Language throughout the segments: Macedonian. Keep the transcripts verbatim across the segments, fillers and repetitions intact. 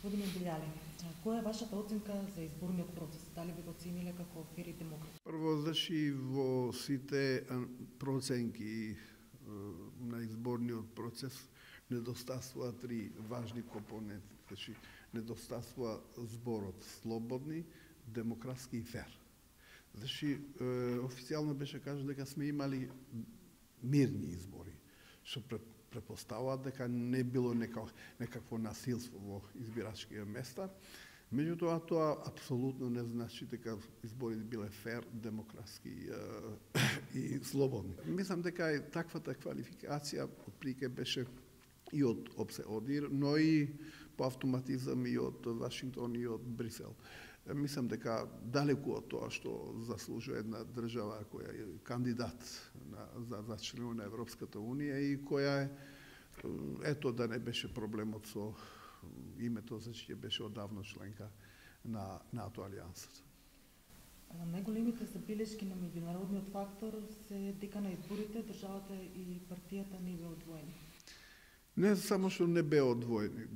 Господине Билјали, која е вашата оценка за изборниот процес? Дали би го оцениле како фер и демократ? Прво, значи, во сите проценки на изборниот процес недостасува три важни компоненти. Значи, недостасува зборот слободни, демократски и фер. Значи, официјално беше кажано дека сме имали мирни избори, што претпоставува дека не било некакво насилство во избирачките места. Меѓутоа, тоа апсолутно не значи дека изборите биле фер, демократски и слободни. Мислам дека и таквата квалификација отприлike беше и од ОБСЕ-ОДИР, но и по автоматизам и од Вашингтон и од Брисел. Мислам дека далеку од тоа што заслужува една држава која е кандидат на, за, за членство на Европската Унија и која е, ето да не беше проблемот со името, зашто беше одавно членка на НАТО алијансата. Најголемите забелешки на меѓународниот фактор се дека на изборите државата и партијата не беа одвоени. Не само што не беа одвоени,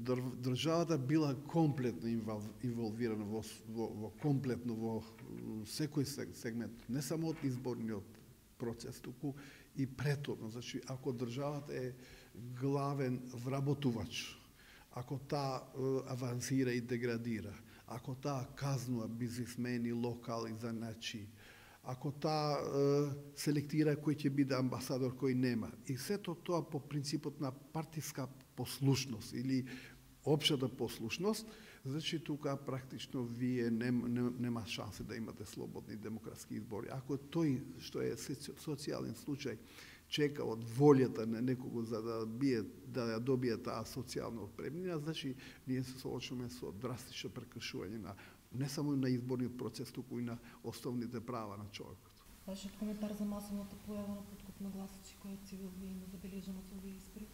државата била комплетно инволвирана во, во, во комплетно во секој сегмент, не само од изборниот процес, туку и претhodно. Значи, ако државата е главен вработувач, ако таа авансира и деградира, ако таа казнува бизнисмени, локали, заначи, ако таа селектира кој ќе биде амбасадор, кој нема. И сето тоа по принципот на партиска послушност или општата послушност, значи тука практично вие нема, нема шансе да имате слободни демократски избори. Ако тој што е социјален случај чека од волјата на некого за да бие да ја добие таа социјална отпремнина, значи ние се соочуваме со драстично прекршување на не само на изборниот процес, туку и на основните права на човекот. Вашиот коментар за масовната појава на подкуп на гласачи која цивилно има забележано со овие избори?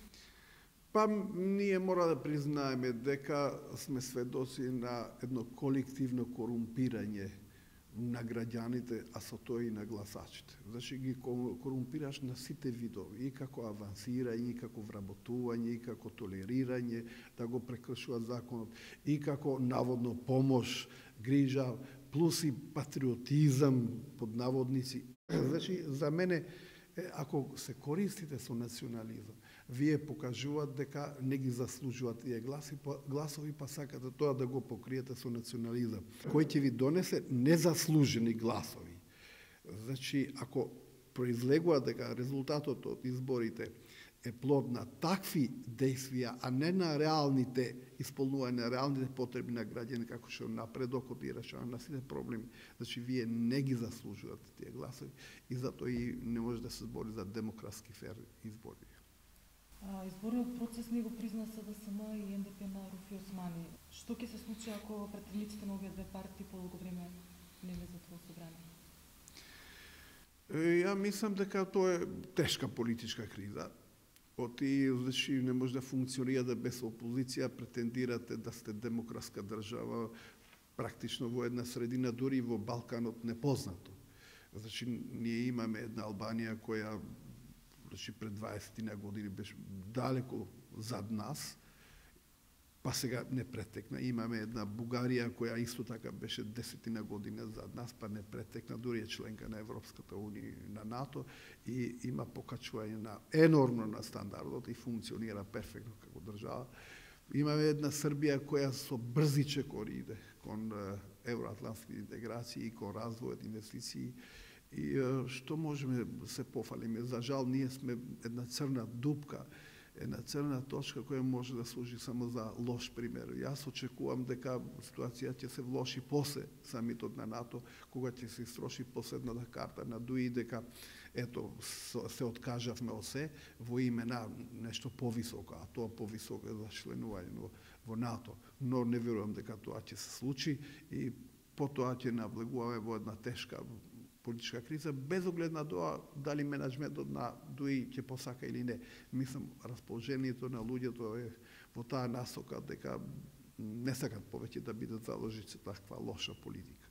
Па ние мора да признаеме дека сме сведоци на едно колективно корумпирање на граѓаните, а со тоа и на гласачите. Значи ги корумпираш на сите видови, и како авансирање, и како вработување, и како толерирање, да го прекршува законот, и како наводно помош, грижа, плюс и патриотизам под наводници. Значи, за мене, ако се користите со национализам, вие покажуваат дека не ги заслужуваат тие гласи, гласови, па сакате тоа да го покриете со национализам, кој ќе ви донесе незаслужени гласови. Значи, ако произлегува дека резултатот од изборите е плод на такви действија, а не на реалните исполнување на реалните потреби на граѓани, како што напредокот и решавање на сите проблеми, значи вие не ги заслужувате тие гласови и затоа и не може да се збори за демократски фер избори. Изборниот процес не го призна СДСМ и НДП на Руфи Османи. Што ќе се случи ако претендниците на овие две партии подолго време не влезат во собрание? Ја мислам дека тоа е тешка политичка криза. Оти, значи, не може да функционирате без опозиција, претендирате да сте демократска држава, практично во една средина, дури во Балканот непознато. Значи, ние имаме една Албанија која, значи, пред дваесет години беше далеко зад нас, па сега не претекна. Имаме една Бугарија која исто така беше десетина година зад нас, па не претекна, дури е членка на Европската Унија, на НАТО, и има покачување на енормно на стандардот и функционира перфектно како држава. Имаме една Србија која со брзи чекори иде кон евроатлантски интеграции и кон развојот, инвестиции. И што можеме да се пофалиме? За жал, ние сме една црна дупка, една црна точка која може да служи само за лош пример. Јас очекувам дека ситуацијата ќе се влоши после самитот на НАТО, кога ќе се истроши последната карта на ДУИ, дека ето се откажавме од се во име на нешто повисоко, а тоа повисоко е за членување во НАТО. Но не верувам дека тоа ќе се случи и потоа ќе навлегуваме во една тешка политичка криза, без оглед на тоа дали менеджментот на ДУИ ќе посака или не. Мислам, расположението на луѓето е во таа насока дека не сакат повеќе да бидат заложници таква лоша политика.